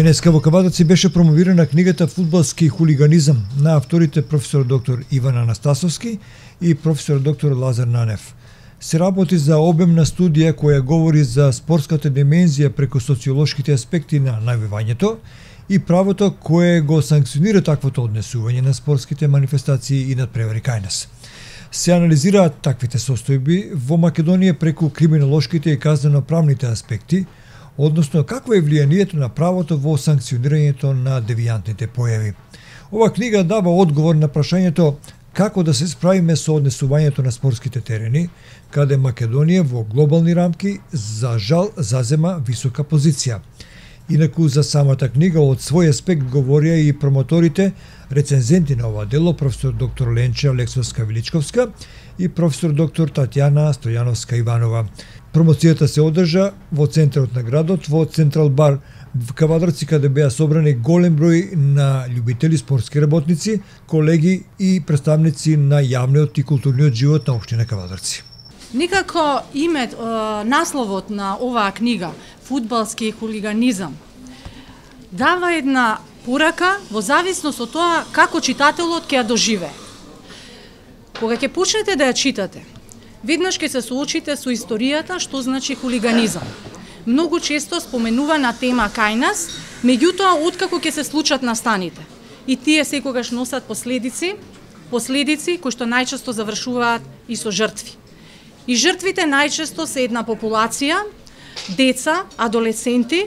Денеска во Кавадарци беше промовирана книгата "Фудбалски хулиганизам" на авторите професор доктор Иван Анастасовски и професор доктор Лазар Нанев. Се работи за обемна студија која говори за спортската димензија преку социолошките аспекти на навивањето и правото кое го санкционира таквото однесување на спортските манифестации и надпревари кај нас. Се анализираат таквите состојби во Македонија преку криминолошките и казнено-правните аспекти, односно какво е влијанието на правото во санкционирањето на девијантните појави. Ова книга дава одговор на прашањето како да се справиме со однесувањето на спортските терени, каде Македонија во глобални рамки за жал зазема висока позиција. Инаку за самата книга од свој аспект говорија и промоторите, рецензенти на ова дело, професор доктор Ленча Лексовска-Величковска и професор доктор Татјана Стојановска-Иванова. Промоцијата се одржа во центарот на градот, во Централ бар в Кавадарци, каде беа собрани голем број на љубители спортски работници, колеги и представници на јавниот и културниот живот на општина Кавадарци. Никако насловот на оваа книга "Фудбалски хулиганизам" дава една порака во зависност од тоа како читателот ќе ја доживее. Кога ќе почнете да ја читате, веднаш ќе се соочите со историјата што значи хулиганизам. Многу често споменувана тема кај нас, меѓутоа откако ќе се случат настаните. И тие секогаш носат последици кои што најчесто завршуваат и со жртви. И жртвите најчесто се една популација, деца, адолесценти,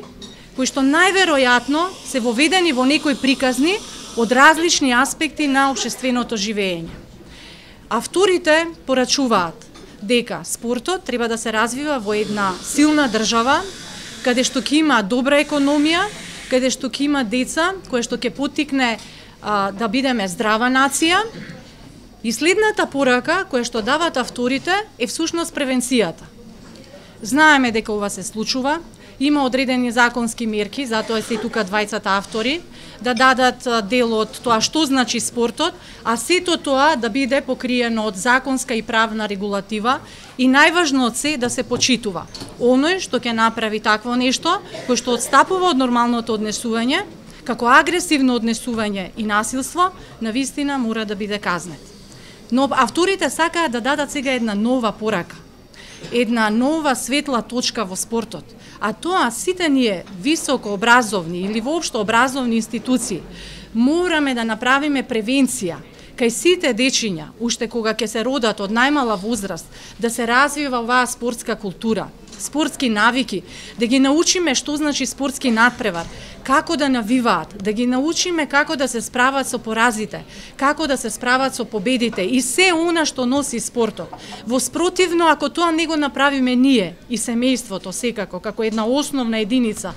кои што најверојатно се воведени во некои приказни од различни аспекти на општественото живење. Авторите порачуваат дека спортот треба да се развива во една силна држава, каде што ќе има добра економија, каде што ќе има деца, кое што ќе поттикне да бидеме здрава нација. И следната порака која што дават авторите е всушност превенцијата. Знаеме дека ова се случува, има одредени законски мерки, затоа се тука двајцата автори, да дадат дел од тоа што значи спортот, а сето тоа да биде покриено од законска и правна регулатива и најважно од се да се почитува. Оној што ќе направи такво нешто, кој што отстапува од нормалното однесување, како агресивно однесување и насилство, навистина мора да биде казнет. Но авторите сакаат да дадат сега една нова порака, една нова светла точка во спортот, а тоа сите ние високо образовни или воопшто образовни институции мораме да направиме превенција кај сите дечиња, уште кога ќе се родат од најмала возраст, да се развива оваа спортска култура, спортски навики, да ги научиме што значи спортски надпревар, како да навиваат, да ги научиме како да се справат со поразите, како да се справат со победите и се она што носи спортот. Во спротивно, ако тоа не го направиме ние и семејството секако, како една основна единица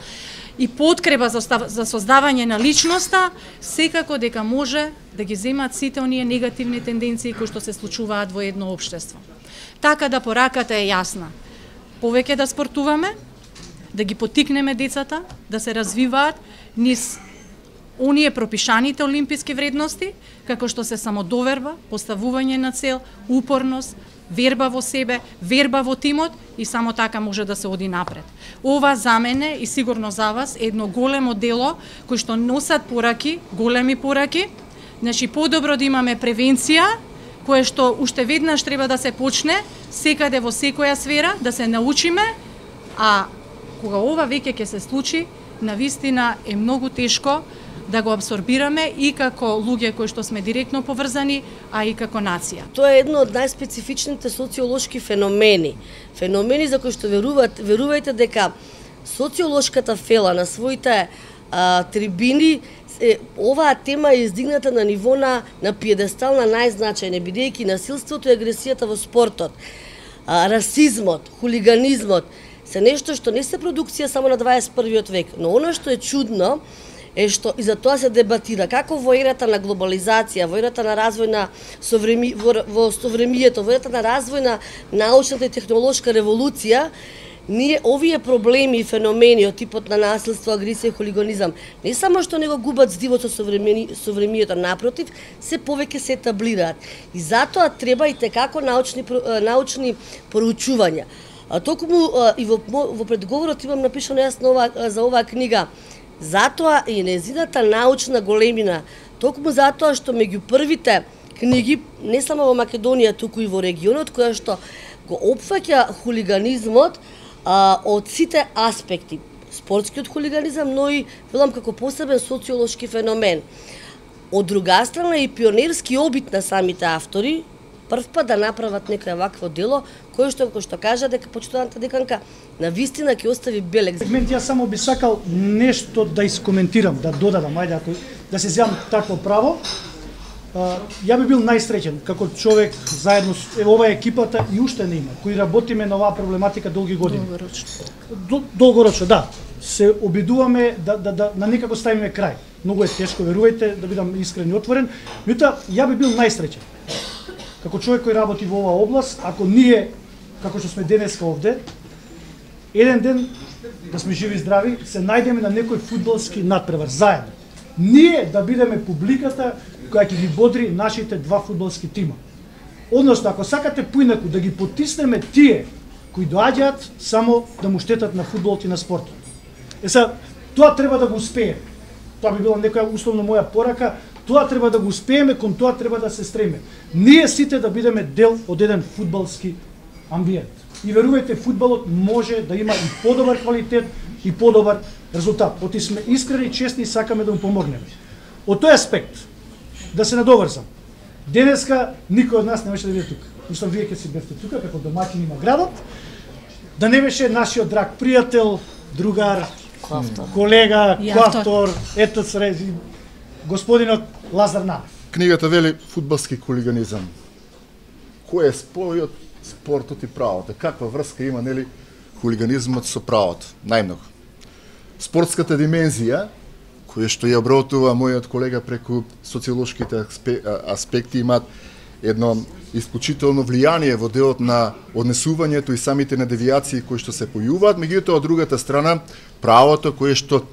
и подкрепа за создавање на личноста, секако дека може да ги земат сите оние негативни тенденции кои што се случуваат во едно општество. Така да пораката е јасна. Повеќе да спортуваме, да ги поттикнеме децата, да се развиваат низ оние пропишаните олимписки вредности, како што се самодоверба, поставување на цел, упорност, верба во себе, верба во тимот и само така може да се оди напред. Ова за мене и сигурно за вас е едно големо дело кој што носат пораки, големи пораки. Значи подобро да имаме превенција, кое што уште веднаш треба да се почне, секаде во секоја сфера, да се научиме, а кога ова веќе ќе се случи, навистина е многу тешко да го абсорбираме и како луѓе кои што сме директно поврзани, а и како нација. Тоа е едно од најспецифичните социолошки феномени. Феномени за кои што верувајте дека социолошката фела на своите трибини, оваа тема е издигната на ниво на пиедестал на најзначајни, бидејќи насилството и агресијата во спортот, расизмот, хулиганизмот се нешто што не се продукција само на 21 век, но она што е чудно е што и за тоа се дебатира како во ерата на глобализација, во ерата на развој на во совремието, во ерата на развој на научната и технолошка револуција, ние овие проблеми и феномени од типот на насилство, агресија и хулиганизам не само што не го губат здивот со совремието, напротив, се повеќе се етаблираат. И затоа треба и текако научни проучувања. Токму и во предговорот имам напишано јас за оваа книга Затоа и незината научна големина, токму затоа што меѓу првите книги, не само во Македонија, туку и во регионот, која што го опфаќа хулиганизмот од сите аспекти. Спортскиот хулиганизам, но и велам како посебен социолошки феномен. Од друга страна и пионерски обид на самите автори, прв пат да направат некој вакво дело, кој што кажа дека почитуваната деканка на вистина ќе остави белег. Јас само би сакал нешто да искоментирам, да додадам, ајде ако да се земам такво право. Ја би бил најсреќен како човек заедно со ова екипата и уште не има, кои работиме на оваа проблематика долги години. Долгорочно, да. Се обидуваме да на некако ставиме крај. Многу е тешко, верувајте, да бидам искрен и отворен, меѓутоа ја би бил најсреќен како човек кој работи во оваа област, ако ние, како што сме денеска овде, еден ден, да сме живи и здрави, се најдеме на некој фудбалски надпревар, заедно. Ние да бидеме публиката која ќе ги бодри нашите два фудбалски тима. Односно, ако сакате поинаку да ги потиснеме тие кои доаѓаат само да му штетат на фудбалот и на спортот. Тоа треба да го успееме. Тоа би била некоја условно моја порака. Тоа треба да го успееме, кон тоа треба да се стремиме. Ние сите да бидеме дел од еден фудбалски амбиент. И верувајте, фудбалот може да има и подобар квалитет и подобар резултат. Оти сме искрени и честни и сакаме да му помогнеме. Од тој аспект, да се надоврзам. Денеска никој од нас не беше да биде тука. Мислам, вие ќе си бевте тука како домаќини на градот. Да не беше нашиот драг пријател, другар, колега, коавтор, ето срези, господинот Лазар Нанев. Книгата вели фудбалски хулиганизам. Кој е спојот спортот и правото? Каква врска има, нели, хулиганизмот со правото? Најмногу. Спортската димензија, која што ја обработува мојот колега преку социолошките аспекти, имаат едно исклучително влијание во делот на однесувањето и самите на девијации кои што се појуваат, меѓутоа од другата страна правото кое што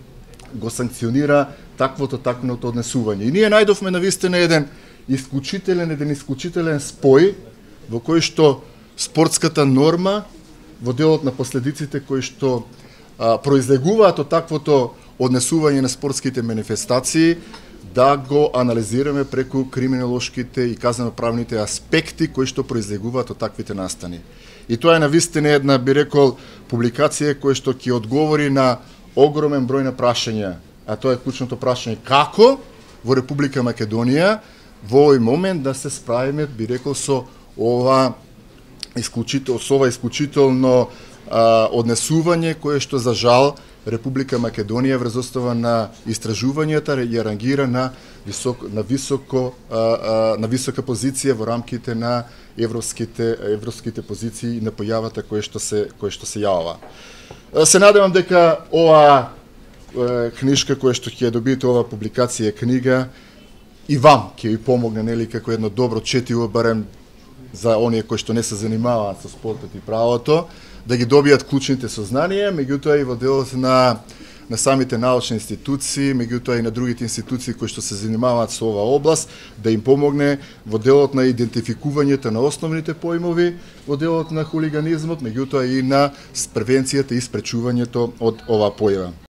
го санкционира таквото однесување. И ние најдовме навистина еден исклучителен спој во кој што спортската норма во делот на последиците кои што произлегуваат од таквото однесување на спортските манифестации, да го анализираме преку криминолошките и казнено-правните аспекти кои што произлегуваат од таквите настани. И тоа е навистина една, би рекол, публикација која што ќе одговори на огромен број на прашања, а тоа е клучното прашање како во Република Македонија во овој момент да се справиме, би рекол, со ова исклучително однесување кое што за жал Република Македонија врз основа на истражувањата ја рангира на висока позиција во рамките на европските позиции и на појавата која што се јавува. Се надевам дека ова книжка која што ќе добиете, ова публикација книга и вам ќе ви помогне, нели, како едно добро четиво, барем за оние кои што не се занимаваат со спортот и правото, да ги добијат клучните сознанија, меѓутоа и во делот на самите научни институции, меѓутоа и на другите институции кои што се занимаваат со оваа област, да им помогне во делот на идентификувањето на основните поимови, во делот на хулиганизмот, меѓутоа и на превенцијата и спречувањето од оваа појава.